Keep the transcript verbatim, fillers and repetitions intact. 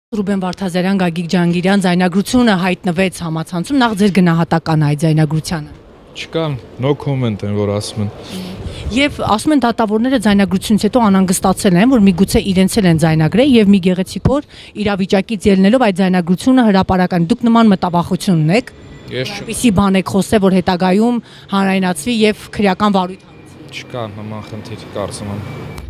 Ռուբեն Վարդազարյան, Գագիկ Ջանգիրյան ձայնագրությունը հայտնվեց համացանցում, նախ ձեր գնահատականը այդ ձայնագրությանը։ Չկա, no comment են, որ ասում են։ Եվ ասում են դատավորները ձայնագրությունից հետո անհանգստացել են, որ միգուցե իրենց էլ են ձայնագրել եւ մի գեղեցիկ օր իրավիճակից ելնելով այդ ձայնագրությունը հրապարական։ Դուք նման մտավախություն ունեք։ Ես Ինչի բան եք խոսել, որ հետագայում հանրայնացվի եւ քրեական վարույթ։ Չկա նման խնդիր, կարծում եմ։